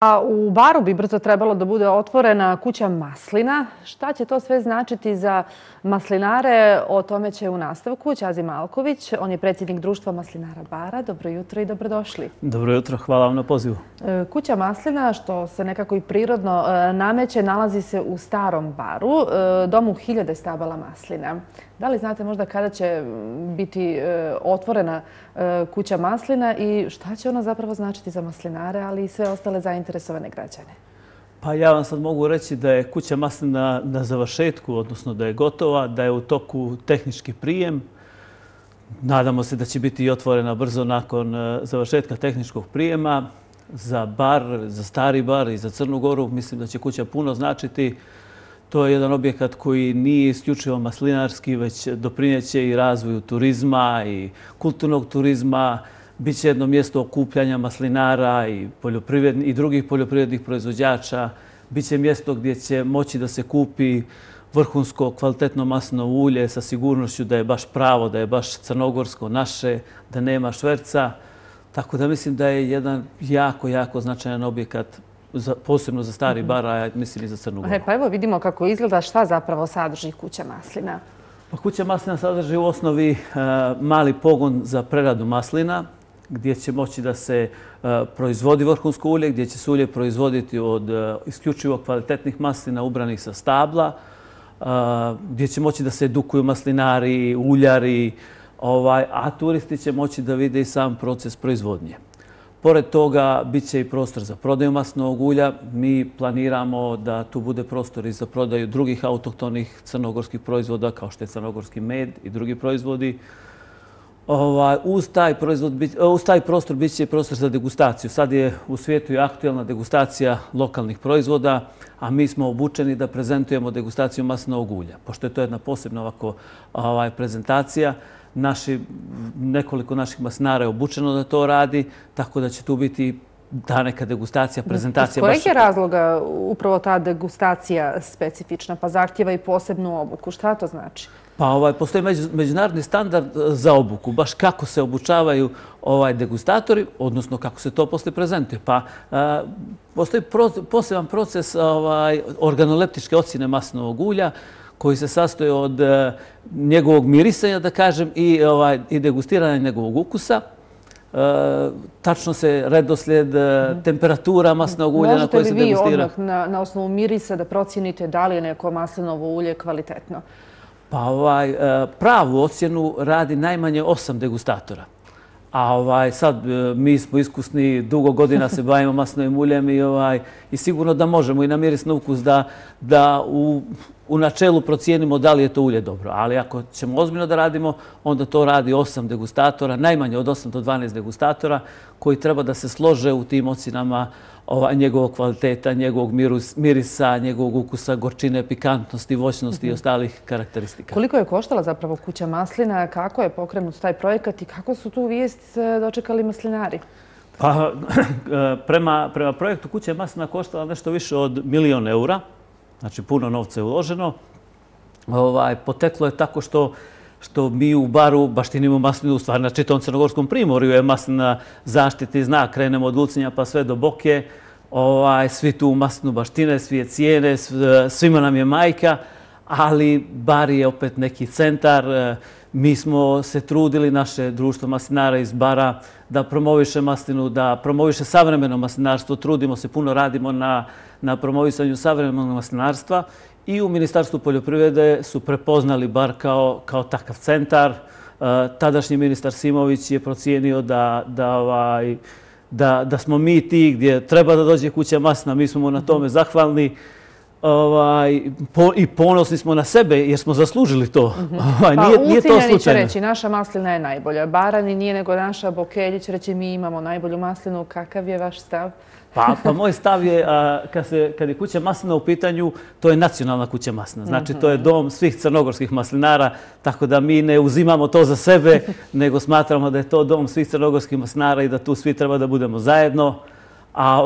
A u Baru bi brzo trebalo da bude otvorena kuća maslina. Šta će to sve značiti za maslinare? O tome će u nastavku Ćazi Malković. On je predsjednik društva maslinara Bara. Dobro jutro i dobrodošli. Dobro jutro, hvala vam na pozivu. Kuća maslina, što se nekako i prirodno nameće, nalazi se u Starom Baru, domu 1000 stabala maslina. Da li znate možda kada će biti otvorena kuća maslina i šta će ona zapravo značiti za maslinare, ali i sve ostale zainteresovane građane? Pa ja vam sad mogu reći da je kuća maslina na završetku, odnosno da je gotova, da je u toku tehnički prijem. Nadamo se da će biti i otvorena brzo nakon završetka tehničkog prijema. Za Bar, za Stari Bar i za Crnu Goru mislim da će kuća puno značiti. To je jedan objekat koji nije isključivo maslinarski, već doprineće i razvoju turizma i kulturnog turizma. Biće jedno mjesto okupljanja maslinara i drugih poljoprivrednih proizvođača. Biće mjesto gdje će moći da se kupi vrhunsko kvalitetno maslinovo ulje sa sigurnošću da je baš pravo, da je baš crnogorsko, naše, da nema šverca. Tako da mislim da je jedan jako značajan objekat posebno za Stari Bar, a mislim i za Crnu Goru. Pa evo vidimo kako izgleda, šta zapravo sadrži kuća maslina. Pa kuća maslina sadrži u osnovi mali pogon za preradu maslina, gdje će moći da se proizvodi vrhunsko ulje, gdje će se ulje proizvoditi od isključivo kvalitetnih maslina ubranih sa stabla, gdje će moći da se edukuju maslinari, uljari, a turisti će moći da vide i sam proces proizvodnje. Pored toga, bit će i prostor za prodaju maslinovog ulja. Mi planiramo da tu bude prostor i za prodaju drugih autohtonih crnogorskih proizvoda, kao što je crnogorski med i drugi proizvodi. Uz taj prostor bit će i prostor za degustaciju. Sad je u svijetu i aktuelna degustacija lokalnih proizvoda, a mi smo obučeni da prezentujemo degustaciju maslinovog ulja. Pošto je to jedna posebna ovako prezentacija, nekoliko naših maslinara je obučeno da to radi, tako da će tu biti ta neka degustacija, prezentacija. Iz kojeg je razloga upravo ta degustacija specifična, pa zahtjeva i posebnu obuku? Šta to znači? Pa postoji međunarodni standard za obuku, baš kako se obučavaju degustatori, odnosno kako se to poslije prezentuje. Pa postoji poseban proces organoleptičke ocjene maslinovog ulja, koji se sastoji od njegovog mirisanja, da kažem, i degustiranja njegovog ukusa. Tačno se redoslijed temperatura maslinovog ulja na koje se degustira. Možete li vi odmah na osnovu mirisa da procijenite da li je neko maslinovo ulje kvalitetno? Pa pravu ocjenu radi najmanje 8 degustatora. A sad mi smo iskusni, dugo godina se bavimo maslinovim uljem i sigurno da možemo i na miris na ukus da u načelu procijenimo da li je to ulje dobro. Ali ako ćemo ozbiljno da radimo, onda to radi 8 degustatora, najmanje od 8 do 12 degustatora koji treba da se slože u tim ocjenama njegovog kvaliteta, njegovog mirisa, njegovog ukusa, gorčine, pikantnosti, voćnosti i ostalih karakteristika. Koliko je koštala zapravo kuća maslina, kako je pokrenut taj projekat i kako su tu vijest dočekali maslinari? Pa, prema projektu kuća maslina koštala nešto više od 1 000 000 eura. Znači, puno novca je uloženo. Poteklo je tako što mi u Baru baštinimo maslinu, u stvari na čitavom crnogorskom primorju je maslina zaštitni znak. Krenemo od Lucinja pa sve do Boke. Svi tu maslinu baštine, svi je cijene, svima nam je majka, ali Bar je opet neki centar. Mi smo se trudili, naše društvo maslinara iz Bara, da promoviše maslinu, da promoviše savremeno maslinarstvo. Trudimo se, puno radimo na promovisanju savremenog maslinarstva i u Ministarstvu poljoprivrede su prepoznali Bar kao takav centar. Tadašnji ministar Simović je procijenio da smo mi ti gdje treba da dođe kuća maslina. Mi smo mu na tome zahvalni i ponosni smo na sebe jer smo zaslužili to. Nije to Lucinjani će slučajno. reći naša maslina je najbolja. Barani nije nego naša. Bokelji će reći mi imamo najbolju maslinu. Kakav je vaš stav? Pa moj stav je, kad je kuća maslina u pitanju, to je nacionalna kuća maslina. Znači, to je dom svih crnogorskih maslinara, tako da mi ne uzimamo to za sebe, nego smatramo da je to dom svih crnogorskih maslinara i da tu svi treba da budemo zajedno. A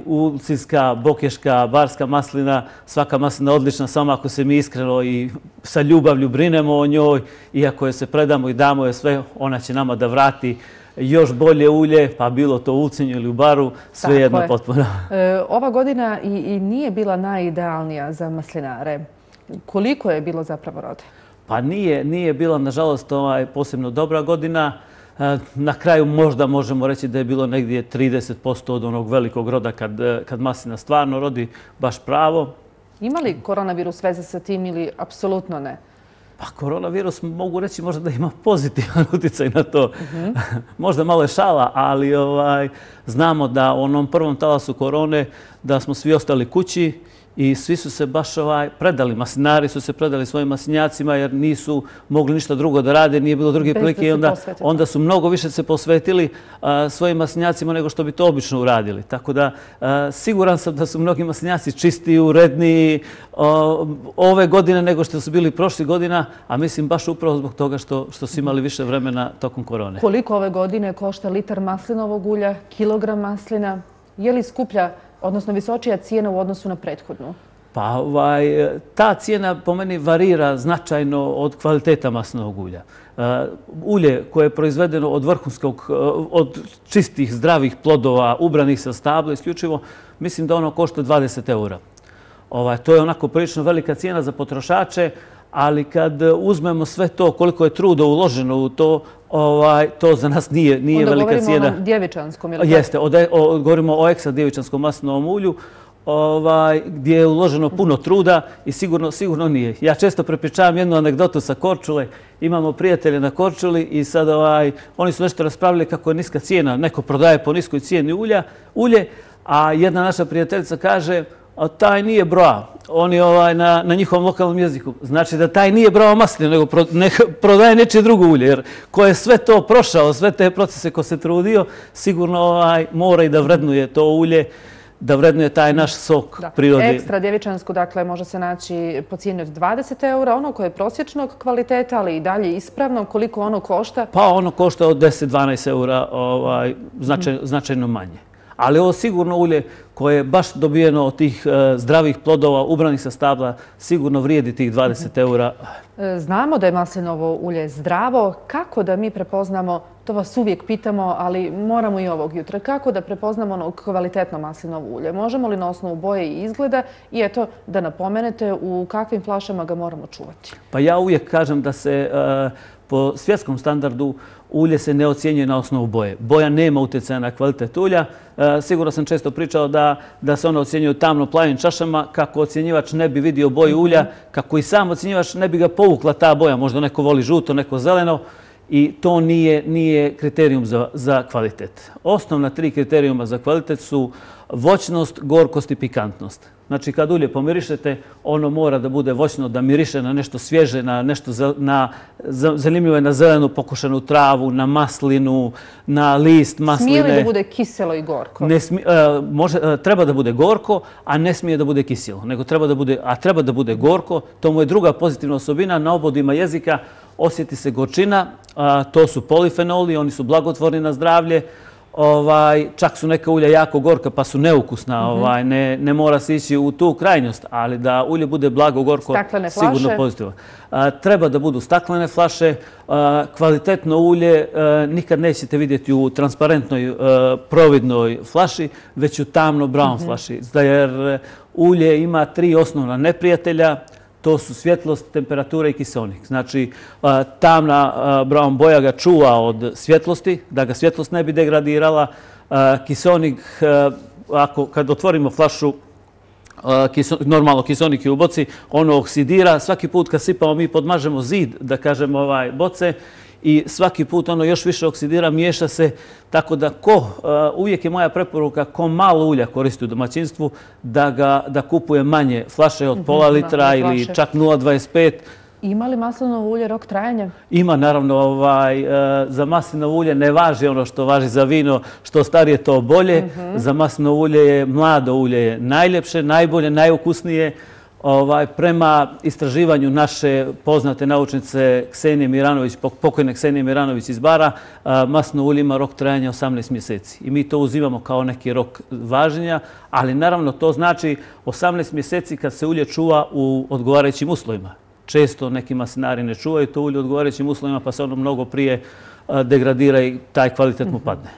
ulcinska, bokeška, barska maslina, svaka maslina je odlična, samo ako se mi iskreno i sa ljubavlju brinemo o njoj i ako je se predamo i damo je sve, ona će nama da vrati još bolje ulje, pa bilo to u Ulcinju ili u Baru, svejedno potpuno. Ova godina i nije bila najidealnija za maslinare. Koliko je bilo zapravo rode? Pa nije bila, nažalost, posebno dobra godina. Na kraju možda možemo reći da je bilo negdje 30% od onog velikog roda kad maslina stvarno rodi baš pravo. Ima li koronavirus veze sa tim ili apsolutno ne? Pa koronavirus mogu reći možda da ima pozitivan utjecaj na to. Možda malo je šala, ali znamo da u onom prvom talasu korone da smo svi ostali kući i svi su se baš predali. Maslinari su se predali svojim maslinjacima jer nisu mogli ništa drugo da rade, nije bilo druge prilike i onda su mnogo više se posvetili svojim maslinjacima nego što bi to obično uradili. Tako da siguran sam da su mnogi maslinjaci čistiji, uredniji ove godine nego što su bili prošlih godina, a mislim baš upravo zbog toga što su imali više vremena tokom korone. Koliko ove godine košta litar maslinovog ulja, kilogram maslina? Je li skuplja, odnosno visočija cijena u odnosu na prethodnu? Pa ta cijena po meni varira značajno od kvaliteta maslinovog ulja. Ulje koje je proizvedeno od čistih, zdravih plodova, ubranih sa stabla isključivo, mislim da ono košta 20 eura. To je onako prilično velika cijena za potrošače, ali kad uzmemo sve to, koliko je truda uloženo u to, to za nas nije velika cijena. Onda govorimo o onom djevičanskom, ili? Jeste, govorimo o ekstra djevičanskom maslinovom ulju, gdje je uloženo puno truda i sigurno nije. Ja često prepričavam jednu anegdotu sa Korčule. Imamo prijatelje na Korčuli i sad oni su nešto raspravljali kako je niska cijena. Neko prodaje po niskoj cijeni ulje, a jedna naša prijateljica kaže taj nije broa. On je na njihovom lokalnom jeziku. Znači da taj nije brao maslinu, nego prodaje nečije drugo ulje. Jer ko je sve to prošao, sve te procese ko se trudio, sigurno mora i da vrednuje to ulje, da vrednuje taj naš sok prirode. Ekstra djevičansku, dakle, može se naći po cijeni od 20 eura, ono koje je prosječnog kvaliteta, ali i dalje ispravno. Koliko ono košta? Pa ono košta od 10-12 eura, značajno manje. Ali ovo sigurno ulje koje je baš dobijeno od tih zdravih plodova, ubranih sa stabla, sigurno vrijedi tih 20 eura. Znamo da je maslinovo ulje zdravo. Kako da mi prepoznamo, to vas uvijek pitamo, ali moramo i ovog jutra, kako da prepoznamo ono kvalitetno maslinovo ulje? Možemo li na osnovu boje i izgleda i eto da napomenete u kakvim flašama ga moramo čuvati? Pa ja uvijek kažem da se po svjetskom standardu ulje se ne ocjenjuje na osnovu boje. Boja nema utjecaja na kvalitet ulja. Sigurno sam često pričao da se ona ocjenjuje u tamno plavim čašama, kako ocjenjivač ne bi vidio boju ulja, kako i sam ocjenjivač ne bi ga povukla ta boja. Možda neko voli žuto, neko zeleno. I to nije kriterijum za kvalitet. Osnovna 3 kriterijuma za kvalitet su voćnost, gorkost i pikantnost. Znači, kad ulje pomirišete, ono mora da bude voćno, da miriše na nešto svježe, na nešto zanimljivo je na zelenu pokošenu travu, na maslinu, na list masline. Smije li da bude kiselo i gorko? Treba da bude gorko, a ne smije da bude kiselo. Treba da bude gorko. To mu je druga pozitivna osobina. Na obodima jezika osjeti se gorčina. To su polifenoli, oni su blagotvorni na zdravlje. Čak su neka ulja jako gorka pa su neukusna, ne mora se ići u tu krajnjost, ali da ulje bude blago gorko, sigurno pozitivno. Treba da budu staklene flaše, kvalitetno ulje nikad nećete vidjeti u transparentnoj providnoj flaši, već u tamno brown flaši, jer ulje ima 3 osnovna neprijatelja. To su svjetlost, temperatura i kiseonik. Znači, tamna brown boja ga čuva od svjetlosti, da ga svjetlost ne bi degradirala. Kiseonik, kad otvorimo flašu, normalno kiseonik je u boci, ono oksidira. Svaki put kad sipamo, mi podmažemo zid, da kažemo, boce i svaki put ono još više oksidira, miješa se. Tako da uvijek je moja preporuka ko malo ulja koristi u domaćinstvu, da kupuje manje flaše od pola litra ili čak 0,25. Ima li maslinovo ulje rok trajanja? Ima, naravno. Za maslinovo ulje ne važi ono što važi za vino, što starije to bolje. Za maslinovo ulje je mlado ulje je najljepše, najbolje, najukusnije. Prema istraživanju naše poznate naučnice Ksenije Miranović, pokojne Ksenije Miranović iz Bara, maslinovo ulje ima rok trajanja 18 mjeseci. I mi to uzimamo kao neki rok važenja, ali naravno to znači 18 mjeseci kad se ulje čuva u odgovarajućim uslovima. Često neki maslinari ne čuvaju to ulje u odgovarajućim uslovima pa se ono mnogo prije degradira i taj kvalitet mu padne.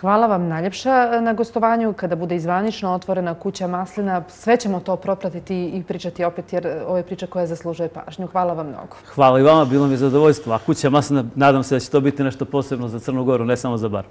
Hvala vam najljepša na gostovanju. Kada bude izvanično otvorena kuća maslina, sve ćemo to propratiti i pričati opet, jer ovo je priča koja zaslužuje pažnju. Hvala vam mnogo. Hvala i vama, bilo mi je zadovoljstvo. A kuća maslina, nadam se da će to biti nešto posebno za Crnu Goru, ne samo za bar.